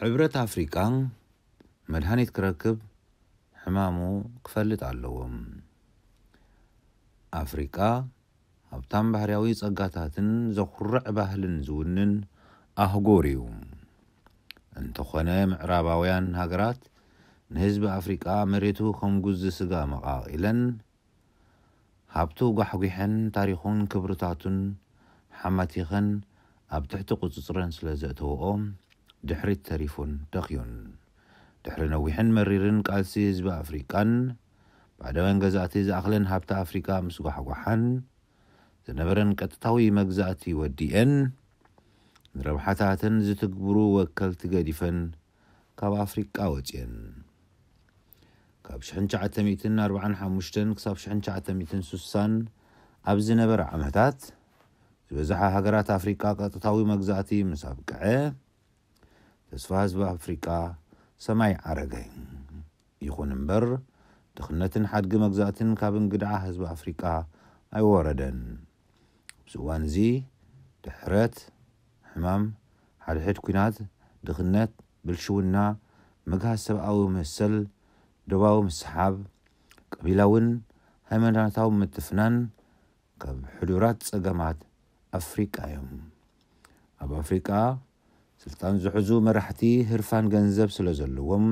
ሕብረት ኣፍሪቃ መድሃኒት ክረክብ ሕማሙ ክፈልጥ ኣለዎ። ኣፍሪቃ ሃብታም ባህርያዊ ጸጋታትን ዘኹርዕ ባህልን ዝውንን ኣህጉር እዩ። እንተኾነ ምዕራባውያን ሃገራት ንህዝቢ ኣፍሪቃ መሬቱ ከም ጉዚ ስጋ መቓቒለን ሃብቱ ጓሕጒሐን ታሪኹን ክብርታቱን ሓማቲኸን ኣብ ትሕቲ ቁጽጽረን ስለ ዘእተወኦ ድሕሪት ተሪፉን ደኽዩን። ድሕሪ ነዊሕን መሪርን ቃልሲ ህዝቢ ኣፍሪቃን ባዕዳውያን ገዛእቲ ዝኣኽለን ሃብቲ ኣፍሪቃ ምስ ጓሕጓሓን ዝነበረን ቀጥታዊ መግዛእቲ ወዲኤን ንረብሓታተን ዝትግብሩ ወከልቲ ገዲፈን ካብ ኣፍሪቃ ወጽየን። ካብ ሽሕን ትሽዓተ ሚእትን ኣርባዓን ሓሙሽተን ክሳብ ሽሕን ትሽዓተ ሚእትን ስሳን ኣብ ዝነበረ ዓመታት ዝበዝሓ ሃገራት ኣፍሪቃ ቀጥታዊ መግዛእቲ ምስ ኣብቅዐ ተስፋ ህዝቢ ኣፍሪቃ ሰማይ ዓረገ። ይኹን እምበር ድኽነትን ሓድጊ መግዛእትን ካብ እንግድዓ ህዝቢ ኣፍሪቃ ኣይወረደን። ኣብዚ እዋን እዚ ድሕረት፣ ሕማም፣ ሓድሕድ ኲናት፣ ድኽነት፣ ብልሽውና፣ ምግሃስ ሰብኣዊ መሰል፣ ዶባዊ ምስሓብ፣ ቀቢላውን ሃይማኖታዊ ምትፍናን ካብ ሕዱራት ጸገማት ኣፍሪቃ እዮም። ኣብ ኣፍሪቃ ስልጣን ዝሕዙ መራሕቲ ህርፋን ገንዘብ ስለ ዘለዎም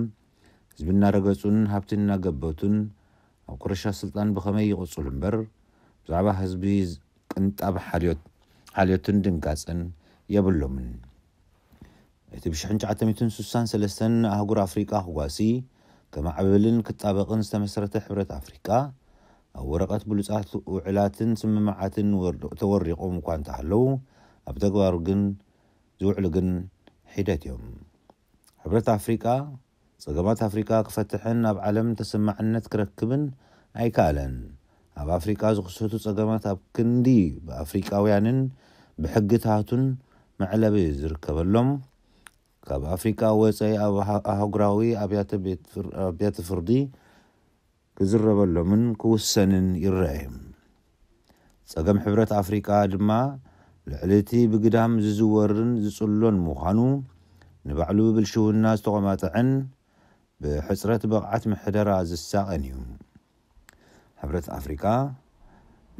ህዝቢ እናረገጹን ሃብቲ እናገበቱን ኣብ ቁርሻ ስልጣን ብኸመይ ይቕጽሉ እምበር ብዛዕባ ህዝቢ ቅንጣብ ሓልዮት ሓልዮትን ድንጋጸን የብሎምን። እቲ ብ ሽሕን ትሽዓተ ሚእትን ስሳን ሰለስተን ንኣህጉር ኣፍሪቃ ክጓሲ ከማዕብልን ክጣበቕን ዝተመስረተ ሕብረት ኣፍሪቃ ኣብ ወረቐት ብሉጻት ውዕላትን ስምምዓትን ወር- ተወሪቖም እኳ እንተሃለዉ ኣብ ተግባሩ ግን ዝውዕሉ ግን ሒደት እዮም። ሕብረት ኣፍሪቃ ጸገማት ኣፍሪቃ ክፈትሕን ኣብ ዓለም ተሰማዕነት ክረክብን ኣይከኣለን። ኣብ ኣፍሪቃ ዝኽሰቱ ጸገማት ኣብ ክንዲ ብኣፍሪቃውያንን ብሕግታቱን መዕለቢ ዝርከበሎም ካብ ኣፍሪቃ ወጻኢ ኣብ ኣህ- ኣህጉራዊ ኣብያተ ቤት ፍር- ኣብያተ ፍርዲ ክዝረበሎምን ክውሰንን ይረኣዩ። ጸገም ሕብረት ኣፍሪቃ ድማ ልዕሊ እቲ ብግዳም ዝዝወርን ዝጽሎን ምዃኑ ንባዕሉ ብብልሽውና ዝተቖማጠዐን ብሕጽረት ብቕዓት ምሕደራ ዝሳቐን እዩ። ሕብረት ኣፍሪቃ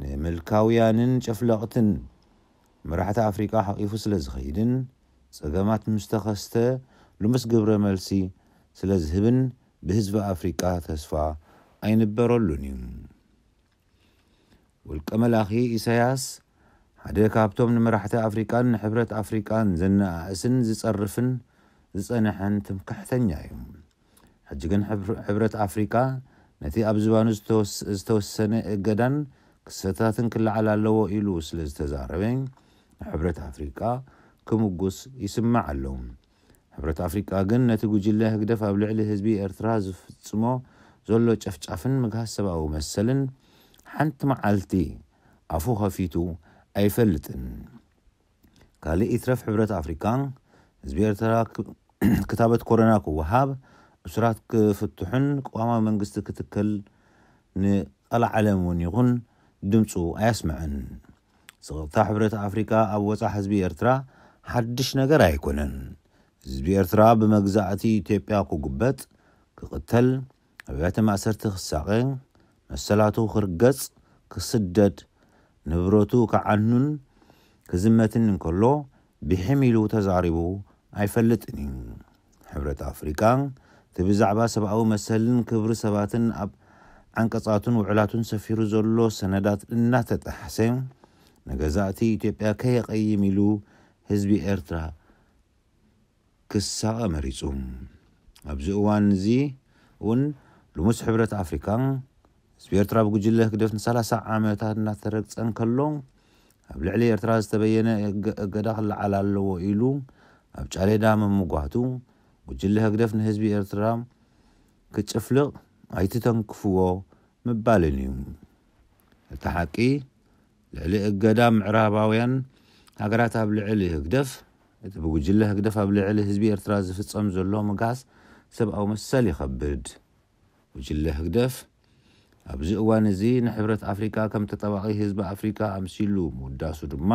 ንምልካውያንን ጨፍለቕትን መራሕቲ ኣፍሪቃ ሓቒፉ ስለ ዝኸይድን ጸገማት ምስ ተኸስተ ልሙስ ግብረ መልሲ ስለ ዝህብን ብህዝቢ ኣፍሪቃ ተስፋ ኣይንበረሉን እዩ። ውልቀ መላኺ ኢሳያስ ሓደ ካብቶም ንመራሕቲ ኣፍሪቃን ንሕብረት ኣፍሪቃን ዘነኣእስን ዝጸርፍን ዝጸንሐን ትምክሕተኛ እዩ። ሕጂ ግን ሕብር- ሕብረት ኣፍሪቃ ነቲ ኣብ ዝባኑ ዝተወስ- ዝተወሰነ እገዳን ክስተታትን ክለዓል ኣለዎ ኢሉ ስለ ዝተዛረበ ንሕብረት ኣፍሪቃ ክምጉስ ይስማዕ ኣሎ። ሕብረት ኣፍሪቃ ግን ነቲ ጉጅለ ህግደፍ ኣብ ልዕሊ ህዝቢ ኤርትራ ዝፍጽሞ ዘሎ ጨፍጫፍን ምግሃስ ሰብኣዊ መሰልን ሓንቲ መዓልቲ ኣፉ ከፊቱ ኣይፈልጥን። ካልእ ይትረፍ ሕብረት ኣፍሪቃ ህዝቢ ኤርትራ ክ- ክታበት ኮሮና ክወሃብ፣ እሱራት ክፍትሑን ቅዋማዊ መንግስቲ ክትከል ንቐልዓለም እውን ይኹን ድምፁ ኣየስምዐን። ስቕታ ሕብረት ኣፍሪቃ ኣብ ወፃ ህዝቢ ኤርትራ ሓድሽ ነገር ኣይኮነን። ህዝቢ ኤርትራ ብመግዛእቲ ኢትዮጵያ ክጉበጥ፣ ክቕተል፣ ኣብያተ ማእሰርቲ ክሳቐ፣ መሰላቱ ክርገጽ፣ ክስደድ፣ ንብረቱ ክዓኑን ክዝመትን እንከሎ ብሒም ኢሉ ተዛሪቡ ኣይፈልጥን እዩ። ሕብረት ኣፍሪቃ እቲ ብዛዕባ ሰብኣዊ መሰልን ክብሪ ሰባትን ኣብ ዓንቀጻቱን ውዕላቱን ሰፊሩ ዘሎ ሰነዳት እናተጠሓሰ ንገዛእቲ ኢትዮጵያ ከየቐይም ኢሉ ህዝቢ ኤርትራ ክሳቐ መሪጹ። ኣብዚ እዋን እዚ እውን ልሙስ ሕብረት ኣፍሪካ ህዝቢ ኤርትራ ብጉጅለ ህግደፍ ንሰላሳ ዓመታት እናተረግጸ እንከሎ ኣብ ልዕሊ ኤርትራ ዝተበየነ እገ- እገዳ ክለዓል ኣለዎ ኢሉ ኣብ ጫሌዳ ምምጓቱ ጉጅለ ህግደፍ ንህዝቢ ኤርትራ ክጭፍልቕ ኣይትተንክፍዎ ምባልን እዩ። እቲ ሓቂ ልዕሊ እገዳ ምዕራባውያን ሃገራት ኣብ ልዕሊ ህግደፍ እቲ ብጉጅለ ህግደፍ ኣብ ልዕሊ ህዝቢ ኤርትራ ዝፍጸም ዘሎ ምግሃስ ሰብኣዊ መሰል ይኸብድ። ጉጅለ ህግደፍ ኣብዚ እዋን እዚ ንሕብረት ኣፍሪካ ከም ተጣባቒ ህዝቢ ኣፍሪካ ኣምሲሉ ምውዳሱ ድማ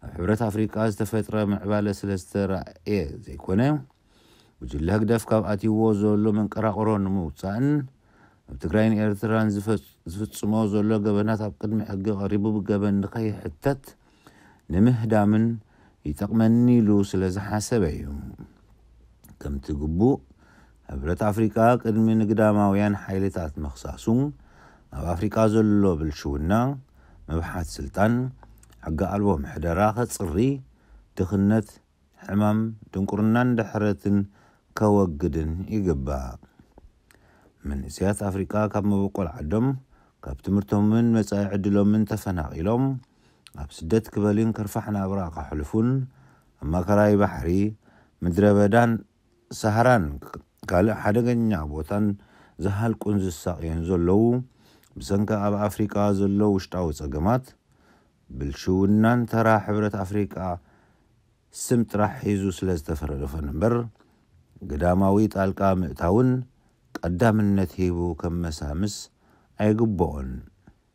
ኣብ ሕብረት ኣፍሪካ ዝተፈጥረ ምዕባለ ስለ ዝተራእየ ዘይኮነ ጉጅለ ህግደፍ ካብ ኣትይዎ ዘሎ መንቀራቕሮ ንምውፃእን ኣብ ትግራይን ኤርትራን ዝፈ- ዝፍፅሞ ዘሎ ገበናት ኣብ ቅድሚ ሕጊ ቀሪቡ ብገበን ንኸይሕተት ንምህዳምን ይጠቕመኒ ኢሉ ስለ ዝሓሰበ እዩ። ከምቲ ግቡእ፣ ሕብረት ኣፍሪቃ ቅድሚ ንግዳማውያን ሓይልታት ምኽሳሱ ኣብ ኣፍሪቃ ዘሎ ብልሽውና፣ ምብሓት ስልጣን፣ ሕጊ ኣልቦ ምሕደራ ከጽሪ፣ ድኽነት፣ ሕማም፣ ድንቁርናን ድሕረትን ከወግድን ይግባእ። መንእሰያት ኣፍሪቃ ካብ መበቆል ዓዶም፣ ካብ ትምህርቶምን መጻኢ ዕድሎምን ተፈናቒሎም ኣብ ስደት ክበልን ከርፋሕ ናብራ ከሕልፉን ኣብ ማእከላይ ባሕሪ፣ ምድረ በዳን ሰሃራን ካልእ ሓደገኛ ቦታን ዝሃልቁን ዝሳቕዩን ዘለዉ፣ ብሰንኪ ኣብ ኣፍሪቃ ዘሎ ውሽጣዊ ጸገማት፣ ብልሽውናን ተራ ሕብረት ኣፍሪቃ ስም ጥራሕ ሒዙ ስለ ዝተፈረደፈን እምበር፣ ግዳማዊ ጣልቃ ምእታውን ቀዳምነት ሂቡ ከመሳምስ ኣይግብኦን።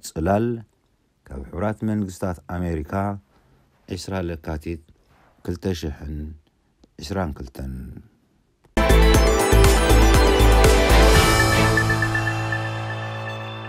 ጽላል ካብ ሕቡራት መንግስታት ኣሜሪካ፣ ዕስራ ለካቲት ክልተ ሽሕን ዕስራን ክልተን።